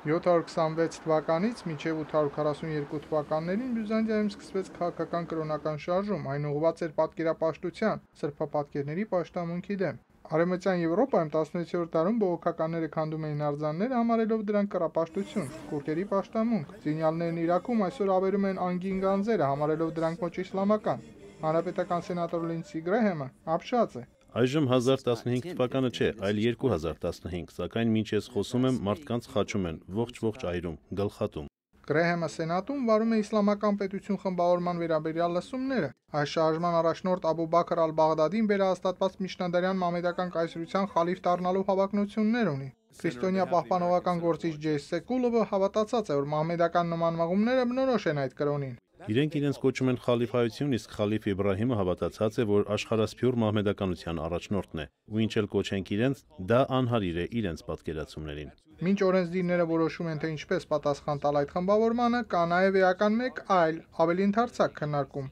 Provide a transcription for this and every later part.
726 թվականից մինչև 842 թվականներին Բյուզանդիայում սկսվեց քաղաքական կրոնական շարժում, այն ուղղված էր պատկերապաշտության, սրբապատկերների պաշտամունքի դեմ։ Արևմտյան Եվրոպայում 16-րդ դարում բողոքականները քանդում էին արձանները, համարելով դրանք կռապաշտություն, քուրդերի պաշտամունք։ Զինյալներն Իրաքում այսօր ավերում են անգին գանձերը, համարելով դրանք ոչ իսլամական։ Հանրապետական սենատոր Լինդսի Գրեհեմը ապշած է։ Այժմ 1015 թվականը չէ, այլ 2015, սակայն մինչ ես խոսում եմ, մարդկանց խաչում են, ողջ այրում, գլխատում։ Գրեհեմը սենատում վարում է իսլամական պետություն խմբավորման վերաբերյալ լսումները։ Այս շարժման առաջնորդ Աբու Բաքր ալ-Բաղդադին վերահաստատված միջնադարյան մամեդական կայսրության խալիֆ դառնալու հավակնություններ ունի։ Քրիստոնյա պահպանողական գործիչ Ջեյ Սեկուլովը հավատացած է, որ մամեդական նման մղումները բնորոշ են այդ կրոնին։ Իրենք իրենց կոչում են խալիֆայություն, իսկ խալիֆ Իբրահիմը հավատացած է, որ աշխարհասփյուռ մահմեդականության առաջնորդն է, ու ինչ էլ կոչենք իրենց, դա անհարիր է իրենց պատկերացումներին։ Մինչ օրենսդիրները որոշում են, թե ինչպես պատասխան տալ այդ խմբավորմանը, կա նաև էական մեկ այլ, ավելի ընդարձակ քննարկում։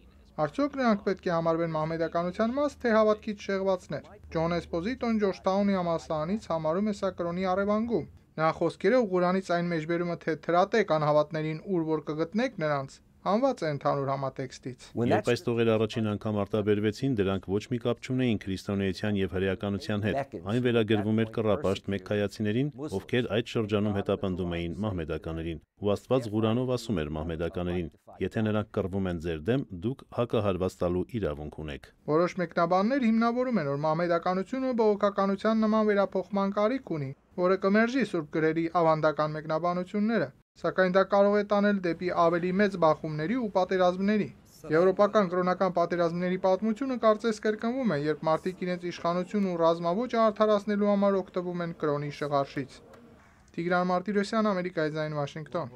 Արդյոք նրանք պետք է համարվեն մահմեդականության մաս, թե հավատքից շեղվածներ։ Ջոն Էսպոզիտոն Ջորջթաունի համալսարանից համարում է սա կրոնի առևանգում։ Նրա խոսքերով Ղուրանից այն մեջբերումը, թե թրատեք անհավատներին, ուր որ կգտնեք նրանց, հանված է ընդհանուր համատեքստից։ Երբ այս տողերը առաջին անգամ արտաբերվեցին, դրանք ոչ մի կապ չունեին քրիստոնեության եւ հրեականության հետ։ Այն վերագրվում էր կռապաշտ մեքքայացիներին, ովքեր այդ շրջանում հետապնդում էին մահմեդականերին։ Ու Աստված Ղուրանով ասում էր մահմեդականերին. եթե նրանք կռվում են ձեր դեմ, դուք հակահարված տալու իրավունք ունեք։ Որոշ մեկնաբաններ հիմնավորում են, որ մահմեդականությունը բողոքականության նման վերափոխման կարիք ունի, որը կմերժի սուրբ գրերի ավանդական մեկնաբանությունները, սակայն դա կարող է տանել դեպի ավելի մեծ բախումների ու պատերազմների։ Եվրոպական կրոնական պատերազմների պատմությունը կարծես կրկնվում է, երբ մարդիկ իրենց իշխանություն ու ռազմաոճը արդարացնելու համար օգտվում են կրոնի շղարշից։ Տիգրան Մարտիրոսյան, Ամերիկայի ձայն, Վաշինգտոն։